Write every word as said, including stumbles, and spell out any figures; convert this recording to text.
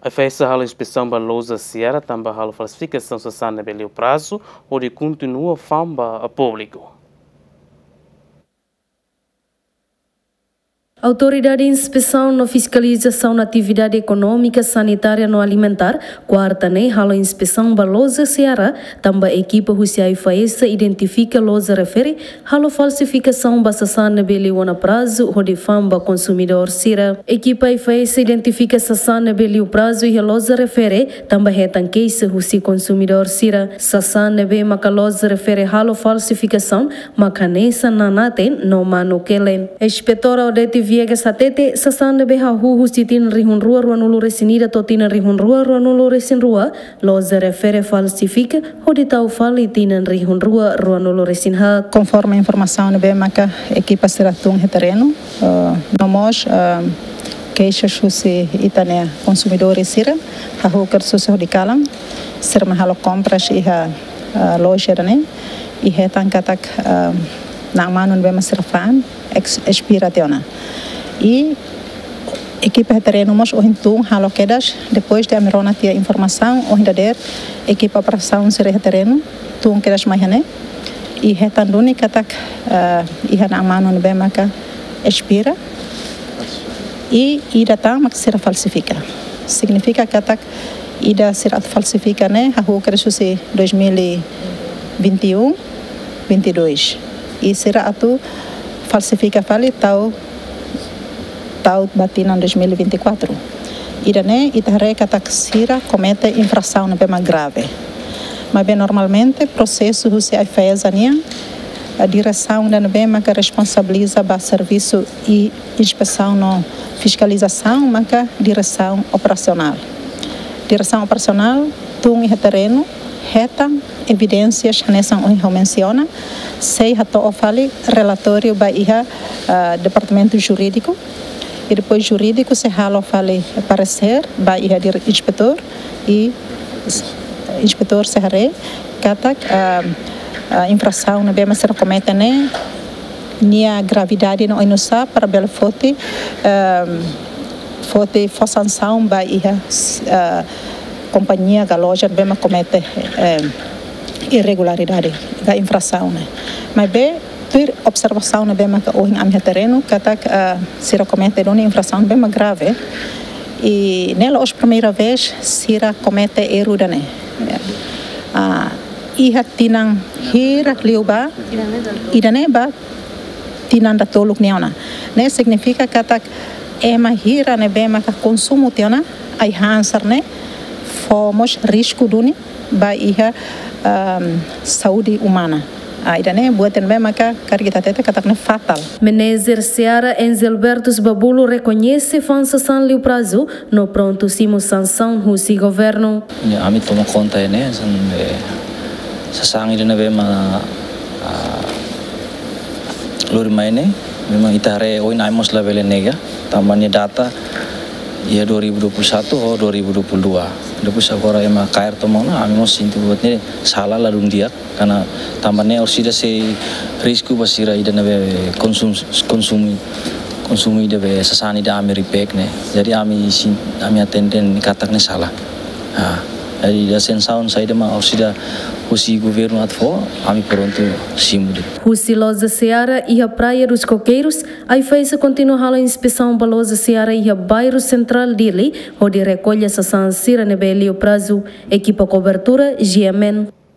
AIFAESA halo inspesaun ba loja Seara tanba halo falsifikasaun sasán ne'ebé liu prazu, hodi kontinua fa'an ba públiku. Autoridade Inspesaun no Fiskalizasaun Atividade Ekonómika, Sanitária no Alimentár, kuarta ne'e halo inspesaun ba loja Seara, tanba ekipa husi AIFAESA identifika loja refere halo falsifikasaun ba sasán ne'ebé liu ona prazu hodi fa'an ba konsumidór sira. Ekipa AIFAESA identifika sasán ne'ebé liu prazu iha loja refere, tanba hetan keixa husi konsumidór sira. Sasán ne'ebé maka loja refere halo falsifikasaun, maka hanesan nanaten no manu kelen. Inspetora Odete Viegas hatete, sasán ne'ebé hahú husi tinan rihun rua ruanulu resin ida to'o tinan rihun rua ruanulu resin rua, loja refere falsifika, hodi tau fali tinan rihun rua ruanulu resin haat. Konforme informasaun ne'ebé maka ekipa sira tun iha terrenu, eh, no mós, eh, keixa husi ita-nia konsumidór sira, hahú kedas husi hodi kalan, sira mai halo kompras iha, eh, loja ida-ne'e, i hetan katak, eh, na'an manu ne'ebé mak sira fa'an, ex-, espira tiha ona. I ekipa iha terrenu mós ohin tun halo kedas, depois de ami rona tiha informasaun, ohin dadeer, ekipa operasaun sira iha terrenu, tun kedas mai iha ne'e, i hetan duni katak, eh, iha na'an manu ne'ebé maka espira, i ida tan mak sira falsifika. Signifika katak ida sira atu falsifika ne'e, hahú kedas husi dois mil e vinte e um, vinte e dois. I sira atu falsifika fali tau, tau ba tinan dois mil e vinte e quatro. Ida-ne'e, ita haree katak sira komete infrasaun ne'ebé mak grave. Maibé normalmente, prosesu husi AIFAESA nian, a diresaun ida ne'ebé maka responsabiliza ba servisu i inspesaun no fiskalizasaun maka diresaun operasionál. Diresaun operasionál tun iha terrenu, hetan evidénsias hanesan ohin ha'u mensiona, sei hato'o fali relatóriu ba iha, ah, departamentu jurídiku, i depois jurídiku sei halo fali paresér ba iha dir-, inspetór, i inspetór sei haree katak, ah, ah, infrasaun ne'ebé mak sira komete ne'e, nia gravidade no oinsá para bele foti, ehm, foti fó sansaun ba iha, eh, kompañia ka loja ne'ebé mak komete, ehm, irregularidade ka infrasaun ne'e. Maibé, tuir observasaun ne'ebé maka ohin ami iha terrenu, katak, eh, sira komete duni infrasaun ne'ebé mak grave. I ne'e la'ós primeira vez sira komete erru ida-ne'e. Ah, iha tinan hirak liubá, ida-ne'e ba tinan datoluk nia ona. Ne'e signifika katak ema hira ne'ebé maka konsumu tiha ona ai-han sira-ne'e, fó mós risku duni ba iha, ehm, saúde umana. Ah, ida-ne'e buat ne'ebé maka karik ita hatete katak ne'e fatál. Menejer Seara Enzelbertus Babulu rekoñese fa'an sasán liu prazu no prontu simu sansaun husi governu. Ya, ami toma konta ne'e, san, eh, sasán ida ne'ebé mak, ah, lori mai ne'e, memang ita haree ohin ami mós labele nega, tanba nia data iha dua ribu dua puluh satu ho dua ribu dua puluh dua. Depois agora ema kaer toma ona, ami mós sente buat ne'e sala, ladún di'ak, karena tanba ne'e orsida sei risku ba sira ida ne'ebé konsum-, konsumu, konsumu ida be sasán ida ami repack ne'e. Jadi ami sin-, ami hatene katak ne'e sala. Ah, jadi ida sansaun saida mak orsida husi governu atu fó, ami prontu simu de'it. Husi loja Seara iha Praia dos Coqueiros, AIFAESA kontinua halo inspesaun ba loja Seara iha bairru sentrál Dili, hodi rekolla sasán sira ne'ebé liu prazu. Ekipa kobertura, G M N.